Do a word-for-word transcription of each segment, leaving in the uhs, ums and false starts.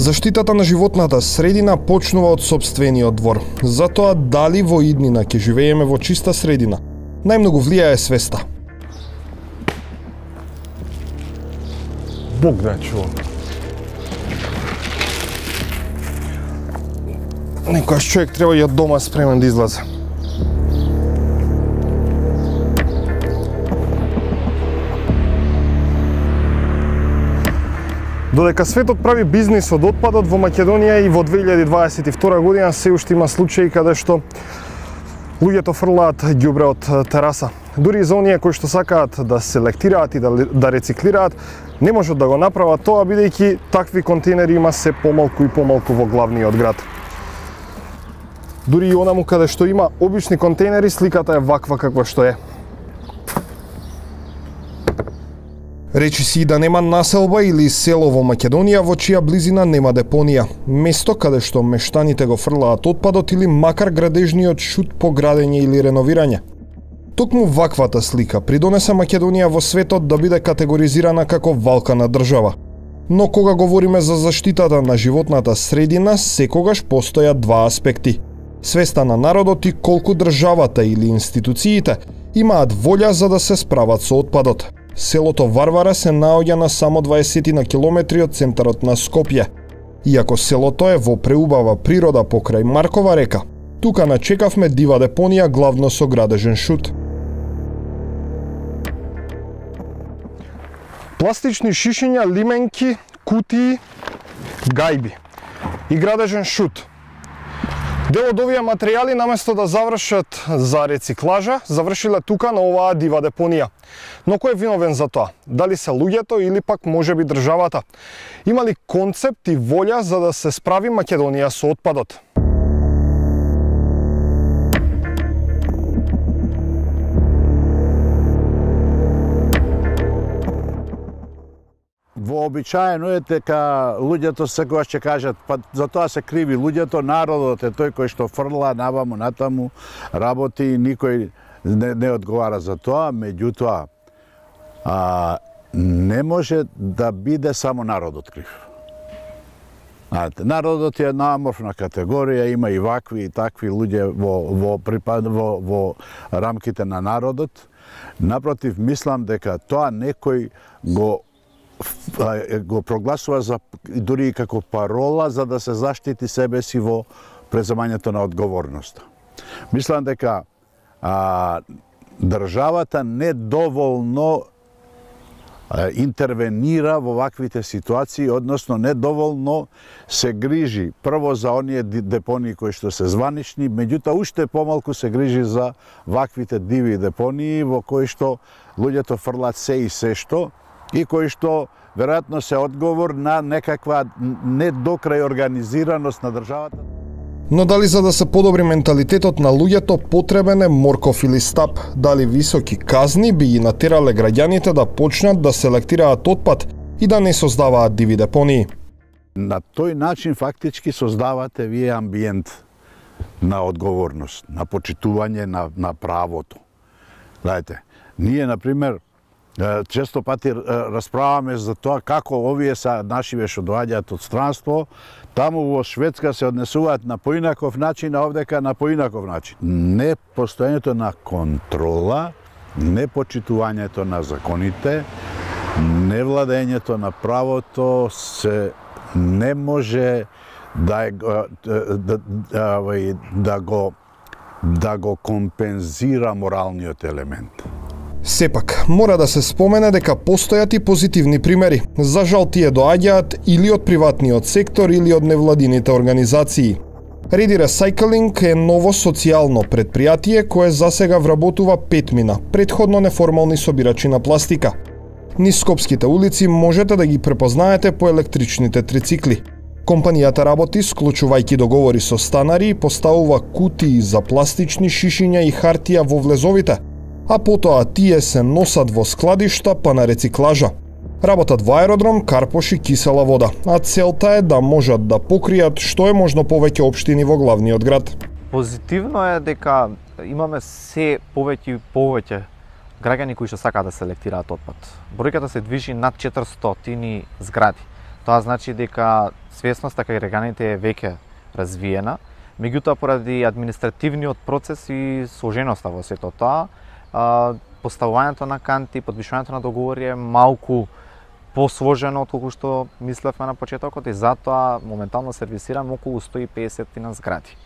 Заштитата на животната средина почнува од сопствениот двор. Затоа дали во иднина ќе живееме во чиста средина, најмногу влијае свеста. Бог да чува. Некојаш човек треба и од дома спремен да излезе. Додека светот прави бизнис од отпадот, во Македонија и во две илјади дваесет и втора година се уште има случаи каде што луѓето фрлаат ѓубре од тераса. Дури и за оние кои што сакаат да селектираат и да, да рециклираат, не можат да го направат тоа, бидејќи такви контейнери има се помалку и помалку во главниот град. Дури и онаму каде што има обични контейнери, сликата е ваква каква што е. Речи си да нема населба или село во Македонија во чија близина нема депонија, место каде што мештаните го фрлаат отпадот или макар градежниот шут по градење или реновирање. Токму ваквата слика придонесе Македонија во светот да биде категоризирана како валкана држава. Но кога говориме за заштитата на животната средина, секогаш постојат два аспекти. Свеста на народот и колку државата или институциите имаат волја за да се справат со отпадот. Селото Варвара се наоѓа на само дваесет на километри од центарот на Скопје. Иако селото е во преубава природа покрај Маркова река, тука начекавме дива депонија главно со градежен шут. Пластични шишиња, лименки, кутии, гајби и градежен шут. Дел од овие материјали наместо да завршат за рециклажа, завршиле тука на оваа дива депонија. Но кој е виновен за тоа? Дали се луѓето или пак можеби државата? Има ли концепт и волја за да се справи Македонија со отпадот? Вообичаено е дека луѓето секогаш ќе кажат, па за тоа се криви луѓето, народот е тој кој што фрла наваму натаму, работи и никој не, не одговара за тоа, меѓутоа а, не може да биде само народот крив. Народот е една аморфна категорија, има и вакви и такви луѓе во, во, припад, во, во рамките на народот. Напротив, мислам дека тоа некој го го прогласува за дури и како парола за да се заштити себе си во преземањето на одговорноста. Мислам дека а, државата недоволно а, интервенира во ваквите ситуации, односно недоволно се грижи прво за оние депонии кои што се званични, меѓутоа уште помалку се грижи за ваквите диви депонии во кои што луѓето фрлат се и се што, и кои што веројатно се одговор на некаква не до крај организираност на државата. Но дали за да се подобри менталитетот на луѓето потребен е морков или стап? Дали високи казни би ги натерале граѓаните да почнат да селектираат отпад и да не создаваат диви депонии? На тој начин фактички создавате вие амбиент на одговорност, на почитување на, на правото. Знаете, ние, например, често пати расправаме за тоа како овие са нашиве што доаѓаат од странство, таму во Шведска се однесуваат на поинаков начин, а овдека на поинаков начин. Не постоењето на контрола, не почитувањето на законите, не владењето на правото се не може да, да, да, да го да го компензира моралниот елемент. Сепак, мора да се спомене дека постојат и позитивни примери. За жал тие доаѓаат или од приватниот сектор или од невладините организации. Ready Recycling е ново социјално предпријатие кое засега вработува петмина, предходно неформални собирачи на пластика. Низ скопските улици можете да ги препознаете по електричните трицикли. Компанијата работи склучувајќи договори со станари и поставува кутии за пластични шишиња и хартија во влезовите, а потоа тие се носат во складишта па на рециклажа. Работат во аеродром, Карпош и Кисела вода, а целта е да можат да покријат што е можно повеќе општини во главниот град. Позитивно е дека имаме се повеќе и повеќе граѓани кои што сакаат да селектираат отпад. Бројката се движи над четиристотини згради. Тоа значи дека свесноста кај граѓаните е веќе развиена, меѓутоа поради административниот процес и сложеноста во сето тоа, поставувањето на канти, подпишувањето на договори е малку посложено отколку што мислевме на почетокот и затоа моментално сервисираме околу сто и песет на згради.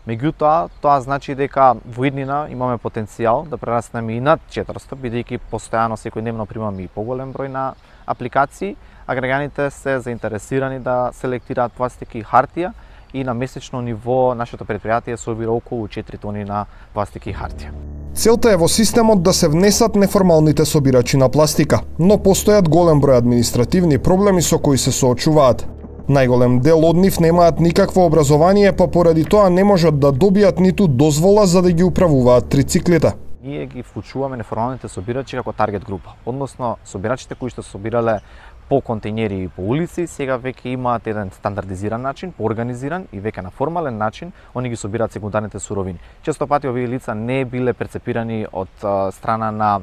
Меѓутоа, тоа значи дека во иднина имаме потенцијал да прераснеме и над четиристо, бидејќи постојано секојдневно примаме и поголем број на апликации, а граѓаните се заинтересирани да селектираат пластика и хартија и на месечно ниво нашето предпријатие собира околу четири тони на пластика и хартија. Целта е во системот да се внесат неформалните собирачи на пластика, но постојат голем број административни проблеми со кои се соочуваат. Најголем дел од нив немаат никакво образование, па поради тоа не можат да добијат ниту дозвола за да ги управуваат трициклите. Ние ги вклучуваме неформалните собирачи како таргет група, односно собирачите кои што собирале по контејнери и по улици, сега веќе имаат еден стандардизиран начин, поорганизиран и веќе на формален начин, они ги собираат секундарните суровини. Често пати овие лица не биле перцепирани од а, страна на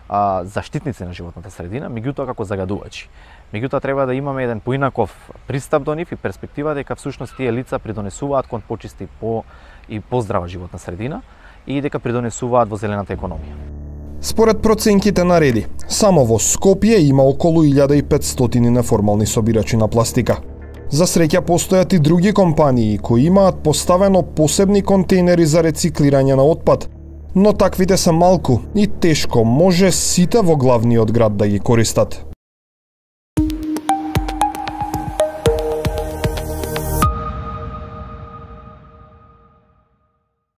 а, заштитници на животната средина, меѓутоа како загадувачи. Меѓутоа треба да имаме еден поинаков пристап до нив и перспектива дека всушност тие лица придонесуваат кон почисти по и поздрава животна средина и дека придонесуваат во зелената економија. Според проценките на Реди, само во Скопје има околу илјада и петстотини неформални собирачи на пластика. За среќа постојат и други компании кои имаат поставено посебни контејнери за рециклирање на отпад, но таквите се малку и тешко може сите во главниот град да ги користат.